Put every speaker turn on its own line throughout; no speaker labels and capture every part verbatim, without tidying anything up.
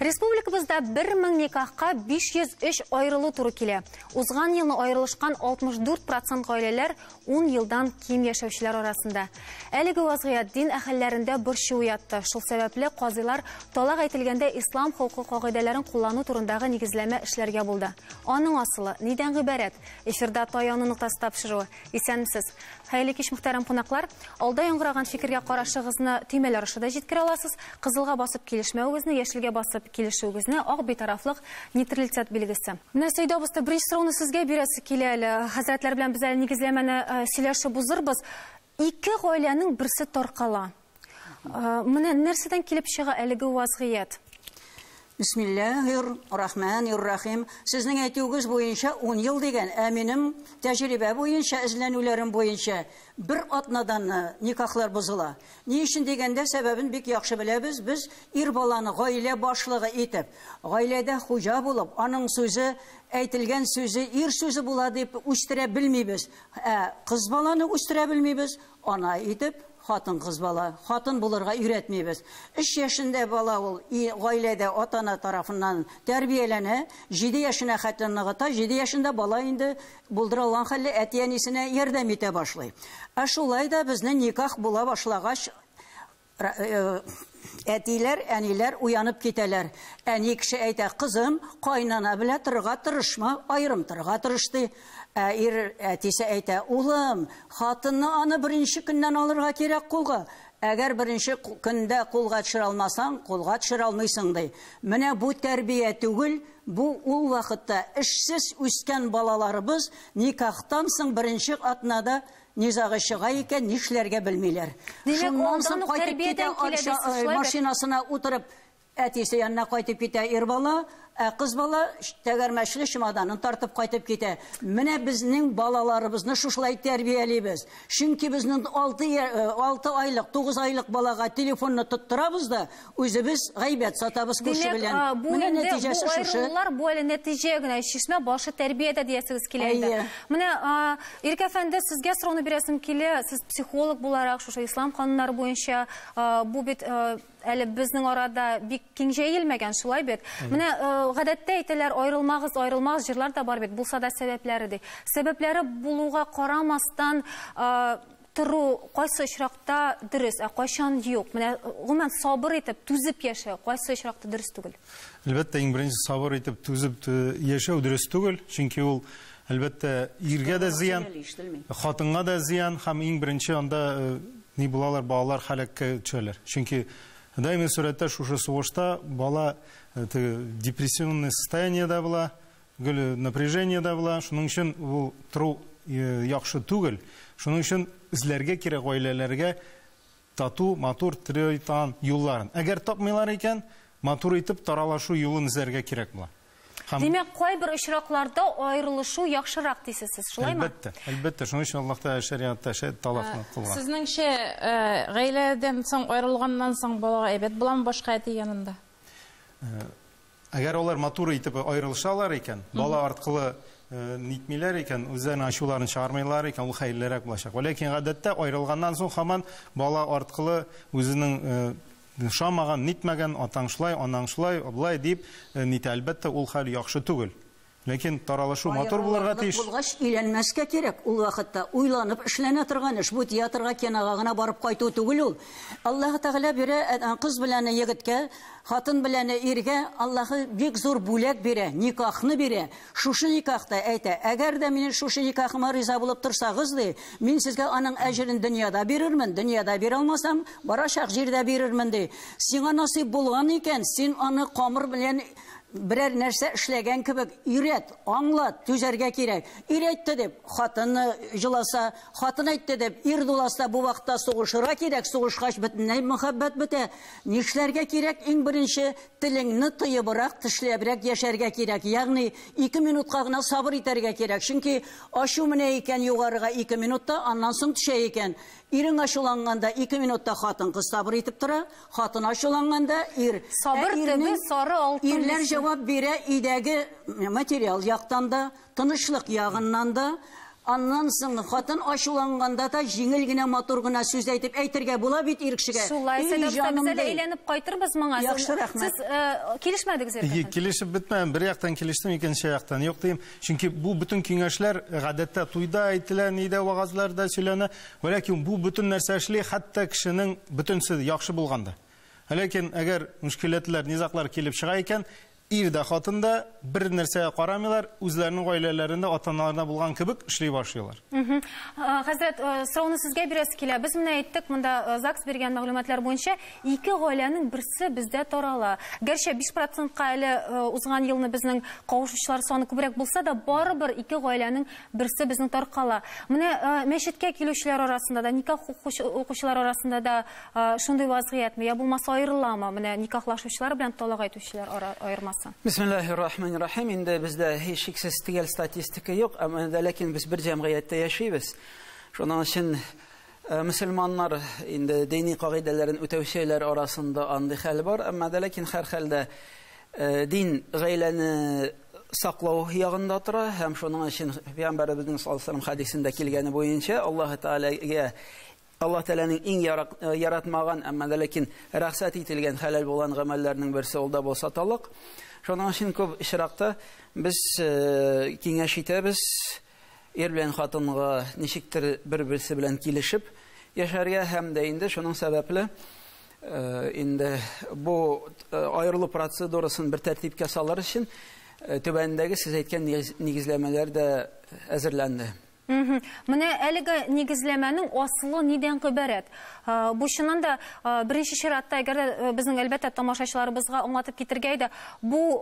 Республикабызда бер мең никахка биш йөз өч аерылу туры килә. Узган елны аерылышкан алтмыш дүрт процент гаиләләр ун елдан ким яшәүчеләр арасында. Әлеге вазгыять дин әһелләрендә борчу уятты. Шул сәбәпле казыйлар талак әйтелгәндә ислам хокукы кагыйдәләрен куллану турындагы нигезләмә эшләргә булды. Аның асылы нидән гыйбарәт? Эфирда таяну ноктасы тапшыруы. Исәнмесез. Хәерле кич, мөхтәрәм кунаклар. Алда яңгыраган фикергә карашыгызны төймәләр аша да җиткерә аласыз. Кызылга басып килешмәвегезне, яшелгә басып килешүегезне, ак битарафлык, нейтралитет билгесе. Менә Сәйдә абыстай, беренче сорауны сезгә бирәсе килә әле. Хәзрәтләр белән без әле нигезләмәне, э, сөйләшеп узырбыз. Ике гаиләнең берсе таркала. Э, менә нәрсәдән килеп чыга әлеге вазгыять?
Бисмиллахир рахманир рахим. Сезнең әйтүегез буенча ун ел дигән, ә минем тәҗрибә буенча, эзләнүләрем буенча бер атнадан никахлар бозыла. Ни өчен дигәндә, сәбәбен бик яхшы беләбез. Без ир баланы гаилә башлыгы итеп, гаиләдә хуҗа булып, аның сүзе, әйтелгән сүзе ир сүзе була дип үстерә белмибез. Ә кыз баланы үстерә белмибез, ана итеп хатын кыз бала, хатын булырга өйрәтмибез. Өч яшендә бала ул и гаиләдә ата-ана тарафыннан тәрбияләнә, җиде яшенә хәтле ныгыта, җиде яшендә бала инде булдыра алган хәлле әти-әнисенә ярдәм итә башлый. Ә шулай да безнең никах була башлагач, ра-, э, әтиләр, әниләр уянып китәләр. Әни кеше әйтә: кызым, кайнана белән торырга тырышма, аерым торырга тырыш, ди. Ә ир әтисе әйтә: улым, хатынны аны беренче көннән алырга кирәк кулга. Әгәр беренче ку-, көндә кулга төшерә алмасаң, кулга төшерә алмыйсың, ди. Менә бу тәрбия түгел, бу ул вакытта эшсез үскән балаларыбыз никахтан соң беренче атнада низагы чыга икән, нишләргә белмиләр.
Димәк,
Шуннан
алдан
соң
ук
кайтып
тәрбиядән
китә,
килә
акча,
дисез,
э,
шулай бит?
машинасына утырып, әтисе янына кайтып китә ир бала, ә кыз бала тәгәрмәчле чемоданын тартып кайтып китә. Менә безнең балаларыбызны шушылай тәрбиялибез. Чөнки безнең алты я-, э, алты айлык, тугыз айлык балага телефонны тоттырабыз да, үзебез гайбәт сатабыз күрше
Димәк,
белән.
а, бу
Менә
инде
нәтиҗәсе
бу
шушы.
аерылулар, бу әле нәтиҗә генә, чишмә башы тәрбиядә диясегез килә инде.
Әйе.
Менә, а, Ирек әфәнде, сезгә сорауны бирәсем килә. Сез психолог буларак, шушы ислам кануннары буенча, а, бу бит, а, әле безнең арада бик киң җәелмәгән, шулай бит.
Әйе.
Менә, э, гадәттә әйтәләр, аерылмагыз, аерылмагыз, җырлар да бар бит, булса да сәбәпләре ди. Сәбәпләре булуга карамастан, э, тору кайсы очракта дөрес, ә кайчан юк? Менә гомумән сабыр итеп, түзеп яшәү кайсы очракта дөрес түгел?
Әлбәттә, иң беренче сабыр итеп, түзеп, э, яшәү дөрес түгел, чөнки ул әлбәттә иргә дә зыян, хатынга да зыян, һәм иң беренче анда, э, ни булалар, балалар һәлаккә төшәләр. Чөнки даими сурәттә шушы сугышта бала, э, теге депрессивное состояниедә була, гел напряжениедә була. Шуның өчен ул тору, э, яхшы түгел. Шуның өчен эзләргә кирәк гаиләләргә тату, матур тирәйтан юлларын. Әгәр тапмыйлар икән, матур итеп таралашу юлын эзләргә кирәк була. Һәм
Димәк, кайбер очракларда аерылышу яхшырак дисез сез, шулаймы?
Әлбәттә, әлбәттә. Шуның өчен Аллаһ Тәгалә шәриатта шә-, талакны
Ә,
кылган.
Сезнеңчә, э, гаиләдән соң аерылганнан соң балага әйбәт буламы башка әти янында?
Э, әгәр алар матур итеп аерылышалар икән, бала арткылы, э, нитмиләр икән, үзләренең ачуларын чыгармыйлар икән, ул хәерлерәк булачак. Ләкин гадәттә аерылганнан соң һаман бала арткылы үзенең, э, ошамаган, нитмәгән, атаң шулай, анаң шулай, болай дип, э, нитә. Әлбәттә, ул хәл яхшы түгел. Ләкин таралышу матур булырга
Аерылырлык
тиеш.
Булгач, өйләнмәскә кирәк. Ул вакытта уйланып эшләнә торган эш. Бу театрга, кинога гына барып кайту түгел ул. Аллаһ Тәгалә бирә, э, кыз белән егеткә, хатын белән иргә Аллаһы бик зур бүләк бирә, никахны бирә. Шушы никахта әйтә, әгәр дә минем шушы никахыма риза булып торсагыз, ди, мин сезгә аның әҗерен дөньяда бирермен, дөньяда бирә алмасам, барачак җирдә бирермен, ди. Сиңа насыйп булган икән, син аны камыр белән берәр нәрсә эшләгән кебек өйрәт, аңлат, түзәргә кирәк. Ир әйтте дип, хатыны җыласа, хатын әйтте дип, ир дуласа, бу вакытта сугышырга кирәк, сугышкач бөтенләй мәхәббәт бетә. Нишләргә кирәк? Иң беренче телеңне тыебрак, тешләбрәк яшәргә кирәк. Ягъни ике минутка гына сабыр итәргә кирәк. Чөнки ачу менә икән югарыга ике минутта, аннан соң төшә икән. Ирең ачуланганда ике минутта хатын кыз сабыр итеп тора, хатын ачуланганда ир.
Сабыр
Ә ирнең
төбе сары алтын
Ирләр
дисең.
җавап бирә өйдәге материал яктан да, тынычлык ягыннан да, Аннан соң хатын ачуланганда да җиңел генә, матур гына сүз әйтеп әйтергә була бит ир кешегә.
Шулай, без әле әйләнеп кайтырбыз моңа.
Яхшы, рәхмәт.
Сез килешмәдегез?
Килешеп бетмәдем. Бер яктан килештем, икенче яктан юк дим. Чөнки бу бөтен киңәшләр гадәттә туйда әйтелә, нидә вагазларда сөйләнә. Ләкин бу бөтен нәрсә эшли, хәтта кешенең бөтенсе яхшы булганда. Ләкин әгәр мөшкиләтләр, низаклар килеп чыга икән, ир дә хатын да бер нәрсәгә карамыйлар, үзләренең гаиләләрендә ата-аналарында булган кебек эшли башлыйлар.
Хәзрәт, сорауны сезгә бирәсе килә. Без менә әйттек, монда ЗАГС биргән мәгълүматлар буенча ике гаиләнең берсе бездә тарала. Гәрчә биш процентка әле узган елны безнең кавышучылар саны күбрәк булса да, барыбер ике гаиләнең берсе безнең таркала. Менә мәчеткә килүчеләр арасында да, никах укучылар арасында да шундый вазгыятьме? Я булмаса аерыламы? Менә никахлашучылар белән талак әйтүчеләр аермасы.
Бисмиллахир-рахманир-рахим. Инде бездә һичшиксез төгәл статистика юк, әмма ләкин без бер җәмгыятьтә яшибез. Шуның өчен мөселманнар инде дини кагыйдәләрен үтәүчеләр арасында андый хәл бар, әмма ләкин һәр хәлдә дин гаиләне саклау ягында тора һәм шуның өчен Пәйгамбәребезнең саллаллаһу алейһи ва сәлләм хәдисендә килгәне буенча Аллаһ Тәгаләгә Аллаһ Тәгаләнең иң яратмаган, әмма ләкин рөхсәт ителгән хәләл булган гамәлләрнең берсе ул да булса талак. Шуның өчен күп очракта без киңәш итәбез, ир белән хатынга ничектер бер-берсе белән килешеп яшәргә һәм дә инде шуның сәбәпле инде бу аерылу процедурасын бер тәртипкә салыр өчен түбәндәге сез әйткән нигезләмәләр дә әзерләнде.
Менә әлеге нигезләмәнең асылы нидән гыйбарәт? Бу чыннан да беренче чиратта, әгәр дә безнең әлбәттә тамашачыларыбызга аңлатып китергә иде, бу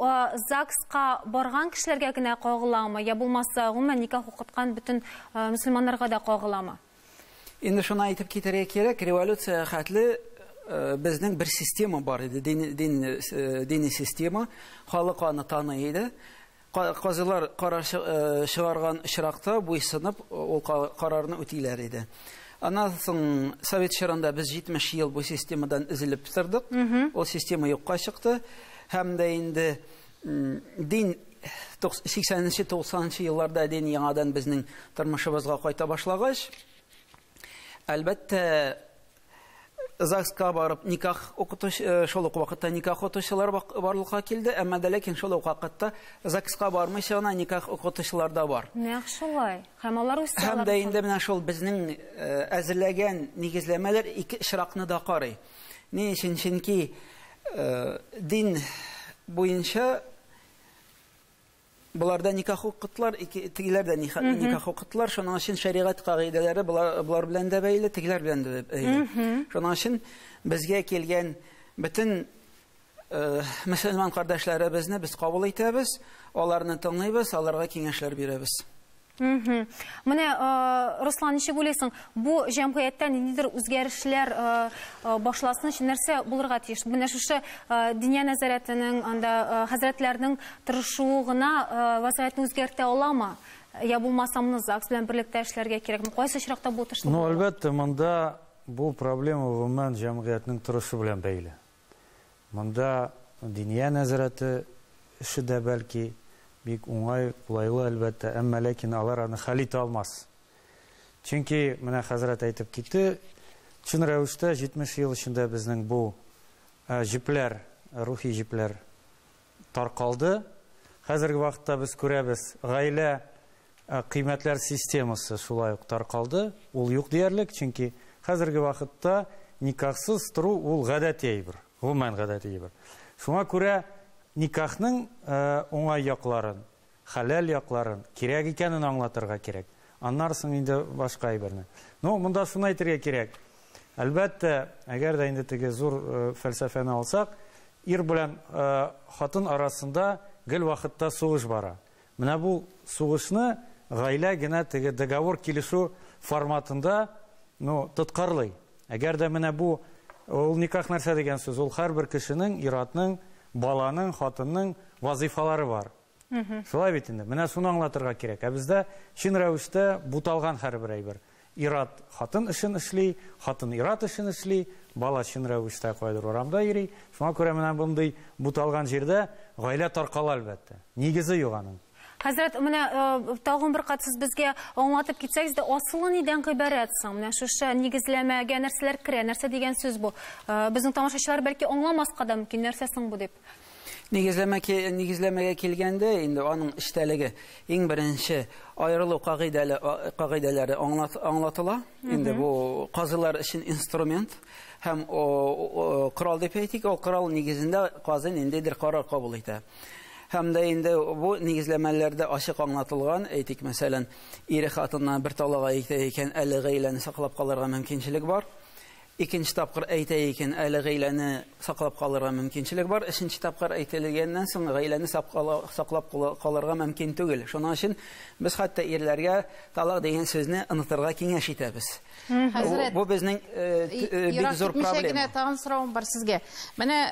ЗАГСка барган кешеләргә генә кагыламы, я булмаса гомумән никах укыткан бөтен мөселманнарга да кагыламы?
Инде шуны әйтеп китәргә кирәк, революция хәтле безнең бер система бар иде, дини система, халык аны таный иде. Казылар карар чыгарган очракта буйсынып ул карарны үтиләр иде. Аннан соң Совет чорында без җитмеш ел бу системадан өзелеп тордык. Ул система юкка чыкты. Һәм дә инде дин сиксәненче, туксанынчы елларда дин яңадан безнең тормышыбызга кайта башлагач, әлбәттә, ЗАГСка барып никах укытучы, шул ук вакытта никах укытучылар барлыкка килде, әмма дә ләкин шул ук вакытта ЗАГСка бармыйча гына никах укытучылар да бар.
Нәкъ шулай. Һәм алар үз
Һәм дә инде менә шул безнең әзерләгән нигезләмәләр ике очракны да карый. Ни өчен? Чөнки дин буенча буларда никах укыттылар, тегеләр дә никах укыттылар. Шуның өчен шәригать кагыйдәләре булар белән дә бәйле, тегеләр белән дә бәйле. Шуның өчен безгә килгән бөтен мөселман кардәшләребезне без кабул итәбез, аларны тыңлыйбыз, аларга киңәшләр бирәбез.
Менә, Руслан, ничек уйлыйсың, бу җәмгыятьтә ниндидер үзгәрешләр башласын өчен нәрсә булырга тиеш? Менә шушы диния нәзарәтенең, анда хәзрәтләрнең тырышуы гына вазгыятьне үзгәртә аламы? Я булмаса, моны ЗАГС белән берлектә эшләргә кирәкме? Кайсы очракта бу тырышлык?
Ну, әлбәттә, монда бу проблема гомумән җәмгыятьнең торышы белән бәйле. Монда диния нәзарәте эше дә бәлки бик уңай, кулайлы әлбәттә, әмма ләкин алар аны хәл итә алмас. Чөнки менә хәзрәт әйтеп китте, чын рәвештә җитмеш ел эчендә безнең бу җепләр, рухи җепләр таркалды. Хәзерге вакытта без күрәбез, гаилә кыйммәтләр системасы шулай ук таркалды. Ул юк диярлек, чөнки хәзерге вакытта никахсыз тору ул гадәти әйбер, гомумән гадәти әйбер. Шуңа күрә никахның уңай якларын, хәләл якларын, кирәк икәнен аңлатырга кирәк. Аннан соң инде башка әйберне. Но монда шуны әйтергә кирәк. Әлбәттә, әгәр дә инде теге зур фәлсәфәне алсак, ир белән хатын арасында гел вакытта сугыш бара. Менә бу сугышны гаилә генә теге договор килешү форматында, ну, тоткарлый. Әгәр дә менә бу ул никах нәрсә дигән сүз, ул һәрбер кешенең, ир-атның, баланың, хатынның вазифалары бар. Шулай бит инде. Менә шуны аңлатырга кирәк. Ә бездә чын рәвештә буталган һәрбер әйбер. Ир-ат хатын эшен эшли, хатын ир-ат эшен эшли, бала чын рәвештә кайдыр урамда йөри. Шуңа күрә менә мондый буталган җирдә гаилә таркала әлбәттә. Нигезе юк аның.
Хәзрәт, менә тагын бер кат сез безгә аңлатып китсәгез дә, асылы нидән гыйбарәт соң? Менә шушы нигезләмәгә нәрсәләр керә, нәрсә дигән сүз бу? Безнең тамашачылар бәлки аңламаска да мөмкин, нәрсә соң бу дип.
Нигезләмә, нигезләмәгә килгәндә, инде аның эчтәлеге иң беренче аерылу кагыйдәләре аңлатыла. Инде бу казылар өчен инструмент һәм корал дип әйтик, ул корал нигезендә казы ниндидер карар кабул итә. Һәм дә инде бу нигезләмәләрдә ачык аңлатылган, әйтик, мәсәлән, ире хатынына бер талак әйтә икән, әле гаиләне саклап калырга мөмкинчелек бар. Икенче тапкыр әйтә икән, әле гаиләне саклап калырга мөмкинчелек бар. Өченче тапкыр әйтелгәннән соң гаиләне саклап калырга мөмкин түгел. Шуның өчен без хәтта ирләргә талак дигән сүзне онытырга киңәш итәбез.
Хәзрәт,
бу безнең бик зур проблема.
Тагын соравым бар сезгә. Менә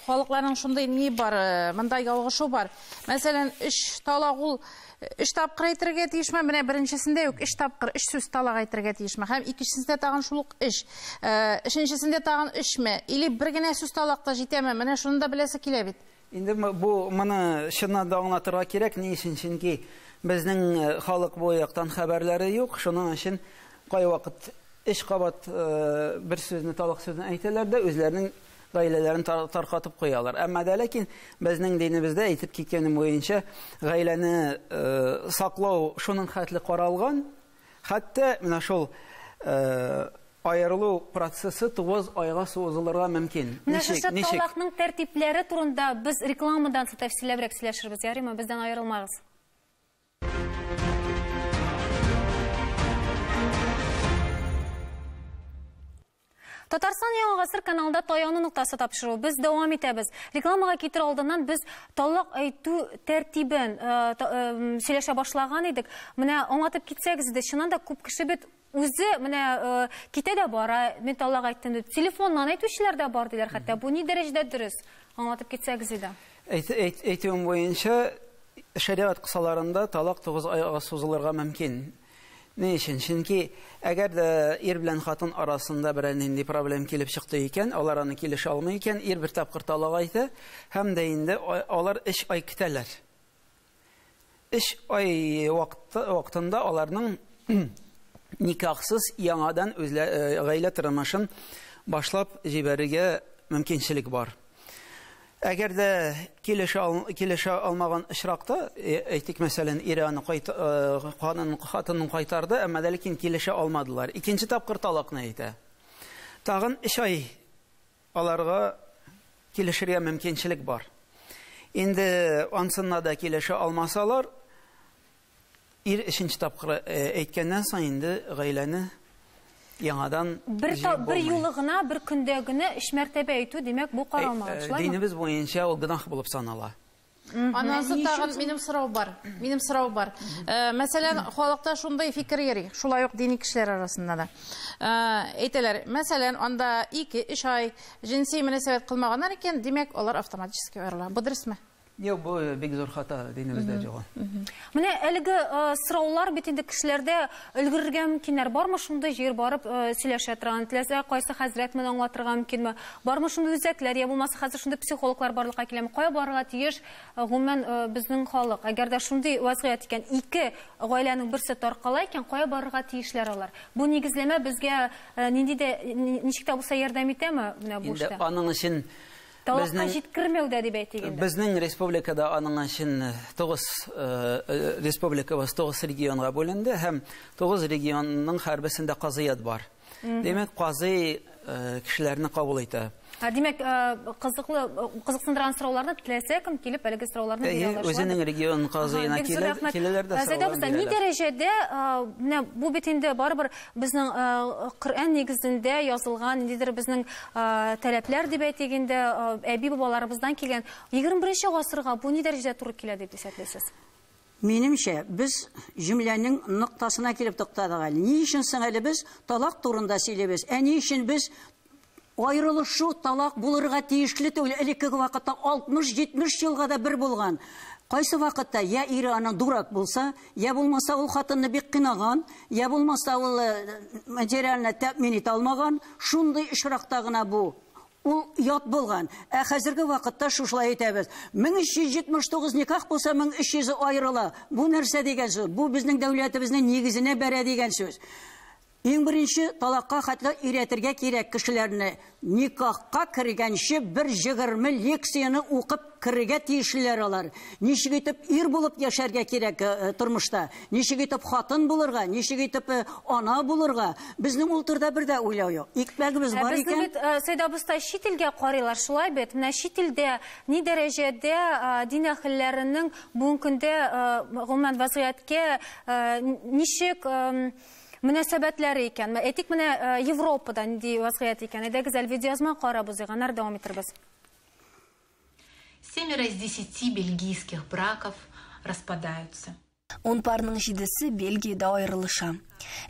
халыкларның шундый ни бар, монда ялгышу бар. Мәсәлән, өч талак ул өч тапкыр әйтергә тиешме? Менә беренчесендә үк өч тапкыр өч сүз талак әйтергә тиешме? Һәм икенчесендә тагын шул ук өч. Өченчесендә тагын өчме? Или бер генә сүз талак та җитәме? Менә шуны да беләсе килә бит.
Инде бу моны чыннан да аңлатырга кирәк. Ни өчен? Чөнки безнең халык бу яктан хәбәрләре юк. Шуның өчен кайвакыт өч кабат бер сүзне талак сүзен әйтәләр дә үзләренең гаиләләрен таркатып куялар. Әмма дә ләкин безнең динебездә әйтеп киткәнем буенча гаиләне саклау шуның хәтле каралган, хәтта менә шул аерылу процессы тугыз айга сузылырга мөмкин.
Менә шушы талакның тәртипләре турында без рекламадан соң тәфсилләбрәк сөйләшербез. Ярыймы, бездән аерылмагыз. Татарстан Яңа Гасыр каналында таяну ноктасы тапшыру. Без дәвам итәбез. Рекламага китер алдыннан без талак әйтү тәртибен сөйләшә башлаган идек. Менә аңлатып китсәгез дә, чыннан да күп кеше бит үзе менә китә дә бара, мин талак әйттем дип. Телефоннан әйтүчеләр дә бар диләр хәтта. Бу ни дәрәҗәдә дөрес? Аңлатып китсәгез иде.
Әйтүем буенча, шәригать кысаларында талак тугыз айга сузылырга мөмкин. Ни өчен? Чөнки әгәр дә ир белән хатын арасында берәр нинди проблем килеп чыкты икән, алар аны килешә алмый икән, ир бер тапкыр талак әйтә, һәм дә инде алар өч ай көтәләр. Өч ай вакытында аларның никахсыз яңадан гаилә тормышын башлап җибәрергә мөмкинчелек бар. Әгәр дә килешә килешә алмаган очракта, әйтик, мәсәлән, ире аны хатынын кайтарды, әмма дә ләкин килешә алмадылар. Икенче тапкыр талакны әйтә. Тагын өч ай аларга килешергә мөмкинчелек бар. Инде ансында да килешә алмасалар, ир өченче тапкыр әйткәннән соң инде гаиләне яңадан
бер бер юлы гына, бер көндә генә өч мәртәбә әйтү, димәк, бу каралмаган, шулаймы?
Динебез буенча ул гөнаһ булып санала.
Аннан соң тагын минем сорау бар. Минем сорау бар. Мәсәлән, халыкта шундый фикер йөри, шулай ук дини кешеләр арасында да. Әйтәләр, мәсәлән, анда ике, өч ай җенси мөнәсәбәт кылмаганнар икән, димәк, алар автоматически аерыла. Бу дөресме?
Юк, бу бик зур хата динебездә юк.
Менә әлеге сораулар бит инде кешеләрдә өлгерергә мөмкиннәр. Бармы шундый җир барып сөйләшә торган, теләсә кайсы хәзрәт моны аңлатырга мөмкинме? Бармы шундый үзәкләр, я булмаса хәзер шундый психологлар барлыкка киләме? Кая барырга тиеш гомумән безнең халык? Әгәр дә шундый вазгыять икән, ике гаиләнең берсе таркала икән, кая барырга тиешләр алар? Бу нигезләмә безгә нинди дә ничек тә булса ярдәм итәме менә бу эштә?
Инде аның өчен
талакка җиткермәүдә дип әйтик инде.
Безнең республикада аның өчен тугыз республикабыз тугыз регионга бүленде һәм тугыз регионның һәрберсендә казыят бар. Димәк, казый кешеләрне кабул итә.
Димәк, кызыклы, кызыксындырган сорауларны теләсә кем килеп әлеге сорауларны бирә ала.
Үзенең регион казыена киләләр дә сораулар бирәләр.
Ни дәрәҗәдә менә бу бит инде барыбер безнең Коръән нигезендә язылган ниндидер безнең таләпләр дип әйтик инде, әби-бабаларыбыздан килгән егерме беренче гасырга бу ни дәрәҗәдә туры килә дип исәплисез?
Минемчә, без җөмләнең ноктасына килеп туктадык әле. Ни өчен соң әле без талак турында сөйлибез? Ә ни өчен без аерылышу талак булырга тиешле түгел? Элеккеге вакытта алтмыш җитмеш елга да бер булган. Кайсы вакытта я ире аның дурак булса, я булмаса ул хатынны бик кыйнаган, я булмаса ул материально тәэмин итә алмаган, шундый очракта гына бу Ул ят булган. Ә хәзерге вакытта шушылай әйтәбез. мең өч йөз җитмеш тугыз никах булса, мең өч йөзе аерыла. Бу нәрсә дигән сүз? Бу безнең дәүләтебезнең нигезенә бәрә дигән сүз. Иң беренче талакка хәтле өйрәтергә кирәк кешеләрне. Никахка кергәнче бер егерме лекцияне укып керергә тиешлеләр алар. Ничек итеп ир булып яшәргә кирәк тормышта, ничек итеп хатын булырга, ничек итеп ана булырга. Безнең ул турыда бер дә уйлау юк. Икмәгебез бар икән.
Безнең бит Сәйдә абыстай чит илгә карыйлар, шулай бит. Менә чит илдә ни дәрәҗәдә дин әһелләренең бүгенге көндә гомумән вазгыятькә ничек мөнәсәбәтләре икән. Әйтик, менә Европада нинди вазгыять икән. Әйдәгез, әле видеоязма карап узыйк, аннары дәвам итербез.
Семеро из десяти бельгийских браков распадаются.
Ун парның җидесе Бельгиядә аерылыша.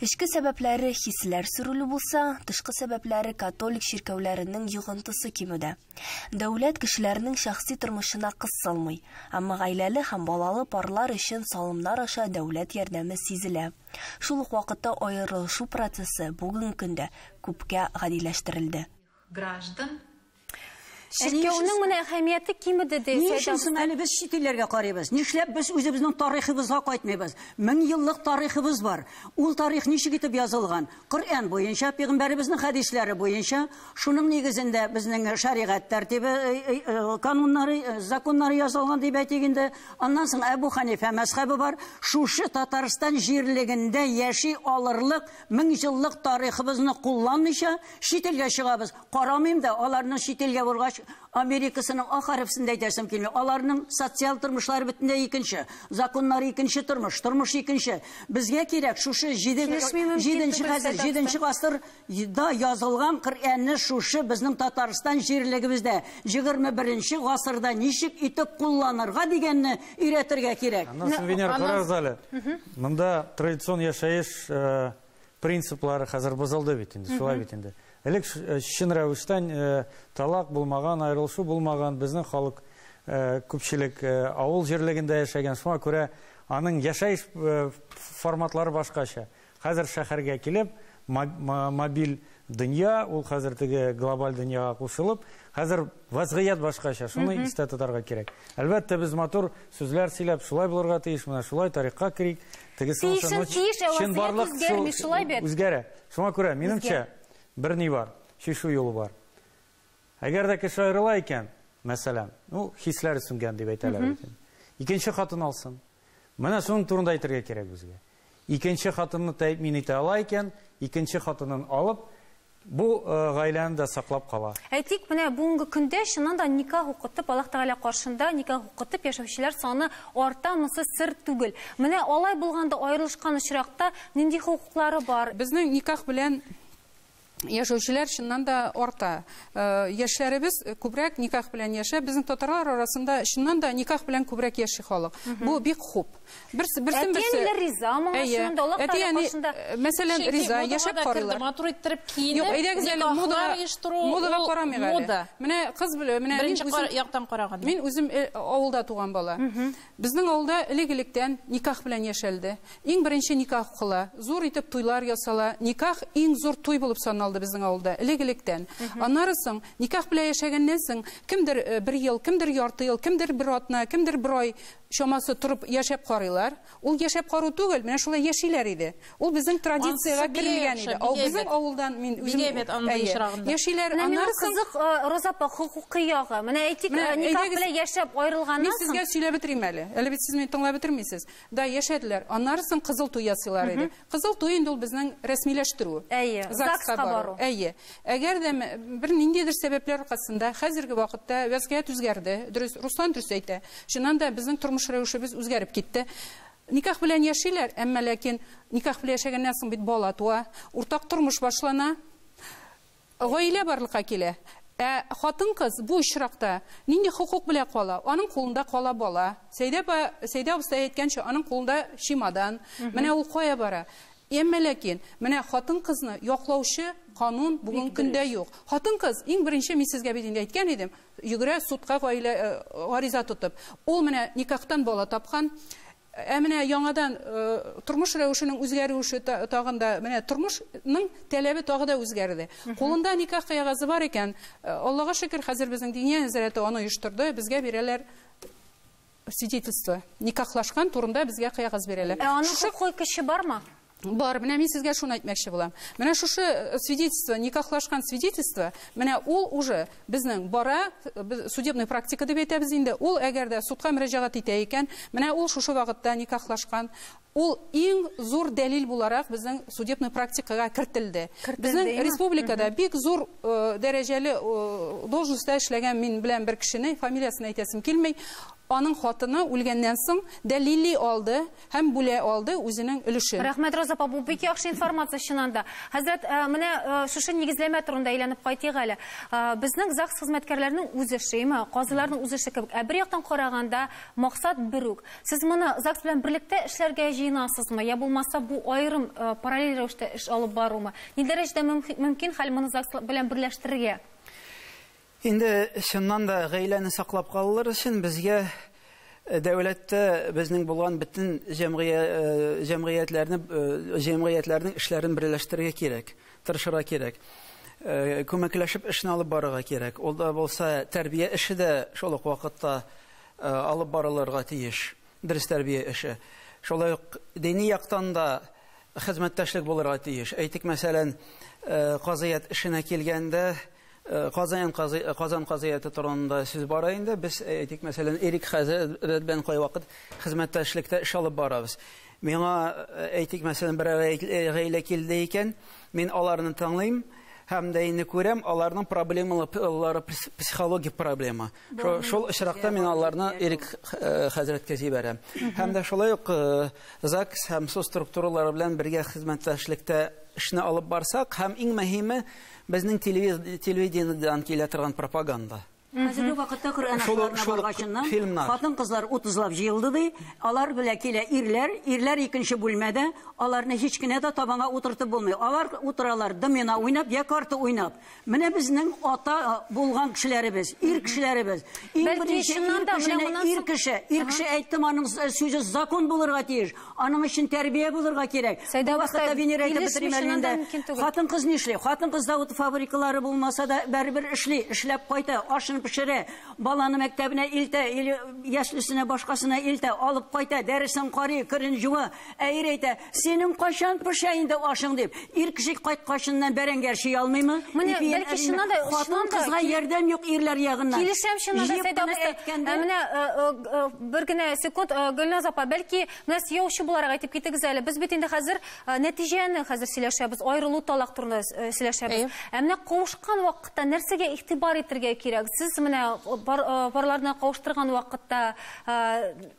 Эчке сәбәпләре хисләр сүрелү булса, тышкы сәбәпләре католик чиркәүләренең йогынтысы кимүдә. Дәүләт кешеләрнең шәхси тормышына кысылмый, әмма гаиләле һәм балалы парлар өчен салымнар аша дәүләт ярдәме сизелә. Шул ук вакытта аерылышу процессы бүгенге көндә күпкә гадиләштерелде.
Граждан
Чиркәүнең менә әһәмияте кимеде ди.
Ни өчен соң әле без чит илләргә карыйбыз? Нишләп без үзебезнең тарихыбызга кайтмыйбыз? Мең еллык тарихыбыз бар. Ул тарих ничек итеп язылган? Коръән буенча, пәйгамбәребезнең хәдисләре буенча, шуның нигезендә безнең шәригать тәртибе, кануннары, законнары язылган дип әйтик инде. Аннан соң Әбу Ханифә мәзһәбе бар. Шушы Татарстан җирлегендә яши алырлык мең еллык тарихыбызны кулланмыйча чит илгә чыгабыз. Карамыйм да, аларның чит илгә баргач Америкасының ак хәрефсендә әйтәсем килми. Аларның социаль тормышлары бөтенләй икенче, законнары икенче тормыш, тормыш икенче. Безгә кирәк шушы җиденче хәзер, җиденче гасырда язылган Коръәнне шушы безнең Татарстан җирлегебездә егерме беренче гасырда ничек итеп кулланырга дигәнне өйрәтергә кирәк.
Аннан соң, Венера, карагыз әле. Монда традицион яшәеш принциплары хәзер бозылды бит инде, шулай бит инде. Элек чын рәвештән талак булмаган, аерылышу булмаган, безнең халык күпчелек авыл җирлегендә яшәгән, шуңа күрә аның яшәеш форматлары башкача. Хәзер шәһәргә килеп, мобиль дөнья, ул хәзер теге глобаль дөньяга кушылып, хәзер вазгыять башкача, шуны истә тотарга кирәк. Әлбәттә, без матур сүзләр сөйләп, шулай булырга тиеш, менә шулай тарихка керик, тегесе чынбарлык үзгәрә. Шуңа күрә, минемчә, бер ни бар, чишү юлы бар. Әгәр дә кеше аерыла икән, мәсәлән, ну, хисләре сүнгән дип әйтәләр бит. Икенче хатын алсын. Менә шуның турында әйтергә кирәк безгә. Икенче хатынны тәэмин итә ала икән, икенче хатынын алып, бу гаиләне дә саклап кала.
Әйтик, менә бүгенге көндә чыннан да никах укытып, Аллаһ Тәгалә каршында никах укытып яшәүчеләр саны арта, монысы сер түгел. Менә алай булганда аерылышкан очракта нинди хокуклары бар?
Безнең никах белән яшәүчеләр чыннан да арта. Яшьләребез күбрәк никах белән яшәп, безнең татарлар арасында чыннан да никах белән күбрәк яши халык. Бу бик хуп. Берсен берсе.
Әти-әниләр риза моңа чыннан да Аллаһ Тәгалә каршында.
Мәсәлән, риза яшәп карыйлар.
Матур иттереп киенеп,
никахлар оештыру, модага карамыйк әле. Менә кыз белән, менә
беренче яктан караганда.
Мин үзем авылда туган бала. Безнең авылда элек-электән никах белән яшәлде. Иң беренче никах укыла, зур итеп туйлар ясала. Никах иң зур туй булып санала безнең авылда элек-электән. Аннары соң никах белән яшәгәннән соң кемдер бер ел, кемдер ярты ел, кемдер бер атна, кемдер бер ай чамасы торып яшәп карыйлар. Ул яшәп кару түгел, менә шулай яшиләр иде. Ул безнең традициягә керелгән иде. Ул безнең авылдан мин үзем яшиләр.
Аннары соң кызык, Роза апа, хокукый ягы. Менә әйтик, никах белән яшәп аерылганнан
соң. Мин сезгә сөйләп бетерим әле. Әле бит сез мине тыңлап бетермисез. Да, яшәделәр. Аннары соң кызыл туй ясыйлар иде. Кызыл туй инде ул безнең рәсмиләштерү.
Әйе, ЗАГСка бару.
Әйе. Әгәр дә бер ниндидер сәбәпләр аркасында хәзерге вакытта вазгыять үзгәрде. Дөрес, Руслан дөрес әйтә. Чыннан да безнең тормыш рәвешебез үзгәреп китте. Никах белән яшиләр, әмма ләкин никах белән яшәгәннән соң бит бала туа, уртак тормыш башлана, гаилә барлыкка килә. Ә хатын-кыз бу очракта нинди хокук белән кала? Аның кулында кала бала. Сәйдә апа, Сәйдә абыстай әйткәнчә, аның кулында чемодан. Менә ул кая бара? Әмма ләкин менә хатын-кызны яклаучы канун бүгенге көндә юк. Хатын-кыз иң беренче, мин сезгә бит инде әйткән идем, йөгерә судка гаилә гариза тотып. Ул менә никахтан бала тапкан, Ә менә яңадан тормыш рәвешенең үзгәрүе тагын да, менә тормышның таләбе тагы да үзгәрде. Кулында никах кәгазе бар икән, Аллага шөкер, хәзер безнең Диния нәзарәте аны оештырды, безгә бирәләр свидетельство. Никахлашкан турында безгә кәгазь бирәләр.
Ә аның хокукый көче бармы?
Бар, менә мин сезгә шуны әйтмәкче булам. Менә шушы свидетельство, никахлашкан свидетельство, менә ул уже безнең бара, судебный практика дип әйтәбез инде. Ул әгәр дә судка мөрәҗәгать итә икән, менә ул шушы вакытта никахлашкан, ул иң зур дәлил буларак безнең судебный практикага кертелде. Безнең республикада бик зур дәрәҗәле должностьта эшләгән мин белән бер кешене, фамилиясын әйтәсем килми, аның хатыны үлгәннән соң дәлилли алды һәм бүлә алды үзенең өлешен.
Рәхмәт, Роза апа, бу бик яхшы информация чыннан да. Хәзрәт, менә шушы нигезләмә турында әйләнеп кайтыйк әле. Безнең ЗАГС хезмәткәрләренең үз эше, казыйларның үз эше кебек. Ә бер яктан караганда максат бер үк. Сез моны ЗАГС белән берлектә эшләргә җыенасызмы? Я булмаса бу аерым параллель рәвештә эш алып барумы? Ни дәрәҗәдә мөмкин хәл моны ЗАГС белән берләштерергә?
Инде чыннан да гаиләне саклап калыр өчен безгә дәүләттә безнең булган бөтен җәмгыятьләрне, җәмгыятьләрнең эшләрен берләштерергә кирәк, тырышырга кирәк. Күмәкләшеп эшне алып барырга кирәк. Ул да булса тәрбия эше дә шул ук вакытта алып барылырга тиеш. Дөрес тәрбия эше. Шулай ук дини яктан да хезмәттәшлек булырга тиеш. Әйтик, мәсәлән, казыят эшенә килгәндә Казан Казан казыяты турында сүз бара инде. Без әйтик, мәсәлән, Эрик хәзрәт белән кайвакыт хезмәттәшлектә эш алып барабыз. Миңа әйтик, мәсәлән, бер гаилә килде икән, мин аларны тыңлыйм һәм дә инде күрәм, аларның проблемалары психологик проблема. Шул очракта мин аларны Эрик хәзрәткә җибәрәм. Һәм дә шулай ук ЗАГС һәм суд структуралары белән бергә хезмәттәшлектә эшне алып барсак, һәм иң мөһиме безнең телевидениедән килә торган пропаганда.
Хәзерге вакытта Коръән ашларына баргачыннан хатын-кызлар утызлап җыелды ди, алар белән килә ирләр, ирләр икенче бүлмәдә, аларны һич кенә дә табанга утыртып булмый. Алар утыралар домина уйнап, я карта уйнап. Менә безнең ата булган кешеләребез, ир кешеләребез. Иң беренче ир кеше, ир кеше әйттем, аның сүзе закон булырга тиеш, аның өчен тәрбия булырга кирәк. Бу вакытта Венера әйтеп бетерим әле инде. Хатын-кыз нишли? Хатын-кыз завод фабрикалары булмаса да бәрбер эшли, эшләп кайта, ашын пешерә, баланы мәктәбенә илтә, или яшьлесенә башкасына илтә, алып кайта, дәресен карый, керен жуа. Ә ир әйтә, синең кайчан пешә инде ашың дип. Ир кеше кайткачыннан бәрәңгә әрчи алмыймы?
Менә бәлки чыннан да
хатын-кызга ярдәм юк ирләр ягыннан.
Килешәм чыннан да, Сәйдә абыстай. Менә бер генә секунд, Гөлназ апа, бәлки менә сөйләүче буларак әйтеп китегез әле. Без бит инде хәзер нәтиҗәне хәзер сөйләшәбез, аерылу талак турында сөйләшәбез. Ә менә кавышкан вакытта нәрсәгә игътибар итәргә кирәк? Сез менә парларны кавыштырган вакытта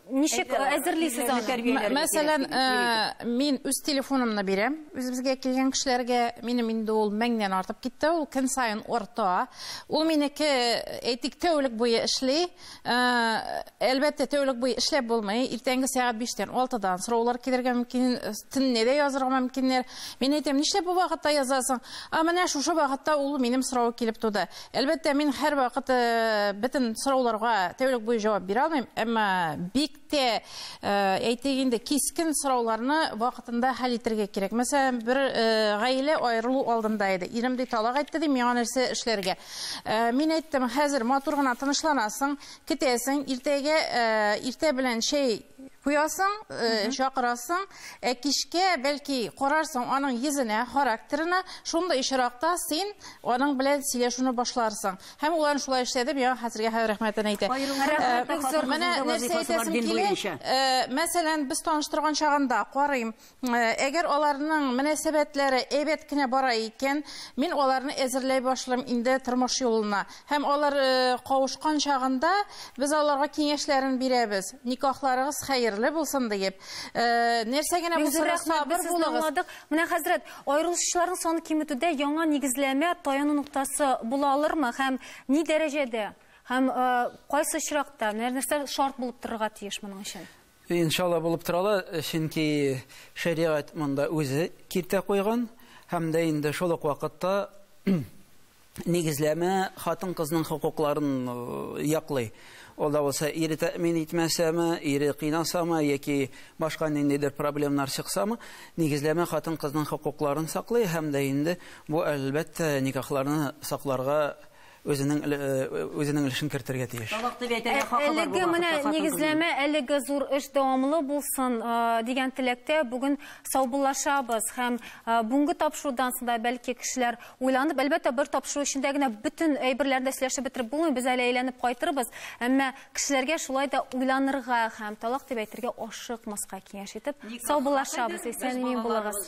ничек әзерлисез аны?
Мәсәлән, мин үз телефонымны бирәм үзебезгә килгән кешеләргә. Минем инде ул меңнән артып китте, ул көн саен арта. Ул минеке, әйтик, тәүлек буе эшли. Әлбәттә, тәүлек буе эшләп булмый. Иртәнге сәгать биштән, алтыдан сораулар килергә мөмкин, төнне дә язырга мөмкиннәр. Мин әйтәм, нишләп бу вакытта язасың? А менә шушы вакытта ул минем сорау килеп туды. Әлбәттә, мин һәр вакыт бөтен сорауларга тәүлек буе җавап бирә алмыйм, әмма бик тә әйтик инде кискен сорауларны вакытында хәл итәргә кирәк. Мәсәлән, бер гаилә аерылу алдында иде. Ирем ди талак әйтте ди, миңа нәрсә эшләргә? Мин әйттем, хәзер матур гына тынычланасың, китәсең, иртәгә иртә белән чәй куясың, чакырасың, ә кичкә бәлки карарсың аның йөзенә, характерына, шунда ишаракта син аның белән сөйләшүне башларсың. Һәм улар шулай эшләде, миңа хәзергә рәхмәтен әйтә. Менә нәрсә әйтәсем килә? Мәсәлән, без таныштырган чагында карыйм, әгәр аларның мөнәсәбәтләре әйбәт кенә бара икән, мин аларны әзерләй башлыйм инде тормыш юлына. Һәм алар кавышкан чагында без аларга киңәшләрен бирәбез. Никахларыгыз хәерле булсын диеп. Нәрсә генә булса сабыр булыгыз.
Менә хәзрәт, аерылышучыларның саны киметүдә яңа нигезләмә таяну ноктасы була алырмы һәм ни дәрәҗәдә? Һәм кайсы очракта нәрсә шарт булып торырга тиеш моның өчен?
Иншалла булып тора ала, чөнки шәригать монда үзе киртә куйган һәм дә инде шул ук вакытта Нигезләмә хатын-кызның хокукларын яклый. Ул да булса ире тәэмин итмәсәме, ире кыйнасамы яки башка ниндидер проблемнар чыксамы, нигезләмә хатын-кызның хокукларын саклый һәм дә инде бу әлбәттә никахларны сакларга үзенең үзенең өлешен кертергә тиеш.
Әлеге менә нигезләмә, әлеге зур эш дәвамлы булсын дигән теләктә бүген саубуллашабыз һәм бүгенге тапшырудан соң да бәлки кешеләр уйланып, әлбәттә бер тапшыру эчендә генә бөтен әйберләрне дә сөйләшеп бетереп булмый, без әле әйләнеп кайтырбыз, әмма кешеләргә шулай да уйланырга һәм талак дип әйтергә ашыкмаска киңәш итеп саубуллашабыз. Исән-имин булыгыз.